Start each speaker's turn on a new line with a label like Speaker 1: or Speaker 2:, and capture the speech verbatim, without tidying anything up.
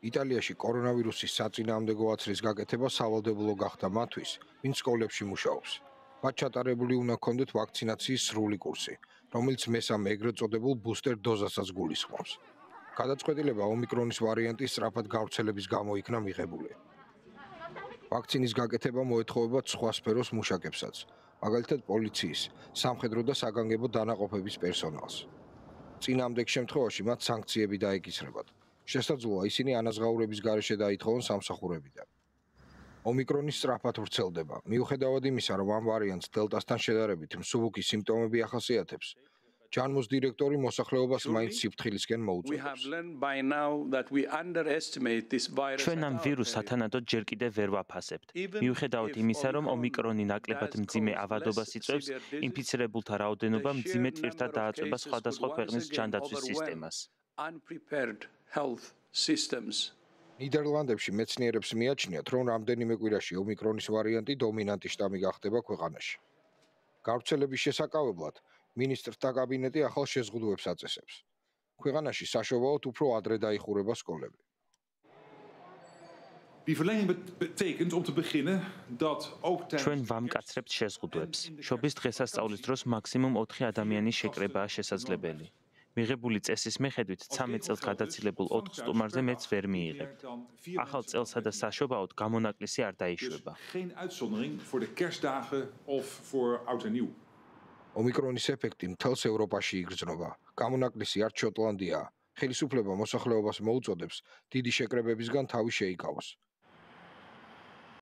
Speaker 1: იტალიაში კორონავირუსის საწინააღმდეგო აცრის გაკეთება სავალდებულო გახდა მათთვის, ვინც სკოლებში მუშაობს. მათ ჩატარებული უნდა ჰქონდეთ ვაქცინაციის სრული კურსი, რომელიც მესამე ეგრეთ წოდებულ ბუსტერ დოზასაც გულისხმობს. გადაწყვეტილება ომიკრონის ვარიანტის სწრაფად გავრცელების გამო იქნა მიღებული. ვაქცინის გაკეთება მოეთხოვება სხვა სფეროს მუშაკებსაც, მაგალითად პოლიციის, სამხედრო და საგანგებო დანაყოფების პერსონალს. წინააღმდეგ შემთხვევაში მათ სანქციები დაეკისრებათ. შესაძლოა ისინი ანაზღაურების გარეშე დაითხოვონ სამსახურებიდან. ომიკრონის სწრაფად ვრცელდება, მიუხედავად იმისა, რომ ამ ვარიანტს დელტასთან შედარებით მსუბუქი სიმპტომები ახასიათებს. ჯანმუს დირექტორი მოსახლეობას მაინც სიფრთხილისკენ მოუწოდებს.
Speaker 2: ჩვენ ამ ვირუსს ათანადოდ ჯერ კიდევ ვერ ვაფასებთ. მიუხედავად იმისა, რომ ომიკრონი ნაკლებად მძიმე ავადობას იწვევს, ინფიცირებულთა რაოდენობა მძიმე ტვირთად დააწვება სხვადასხვა ქვეყნის ჯანდაცვის სისტემას.
Speaker 1: ნიდერლანდებში მეცნიერებს მიაჩნიათ, რომ რამდენიმე კვირაში ომიკრონის ვარიანტი დომინანტი შტამი გახდება ქვეყანაში. გავრცელების შესაკავებლად მინისტრთა კაბინეტი ახალ შეზღუდვებს აწესებს. ქვეყანაში საშობაოდ უფრო ადრე დაიხურება სკოლები.
Speaker 2: ჩვენ ვამკაცრებთ შეზღუდვებს. შობის დღესასწაულის დროს მაქსიმუმ ოთხი ადამიანის შეკრებაა შესაძლებელი. მიღებული წესის მიხედვით ცამეტ წელს გადაცილებულ ოთხ სტუმარზე მეც ვერ მიიღებთ. ახალ წელსა და საშობაოდ გამონაკლისი არ დაიშვება.
Speaker 1: ომიკრონის ეფექტი მთელს ევროპაში იგრძნობა. გამონაკლისი არც შოტლანდიაა. ხელისუფლება მოსახლეობას მოუწოდებს დიდი შეკრებებისგან თავი შეიკავოს.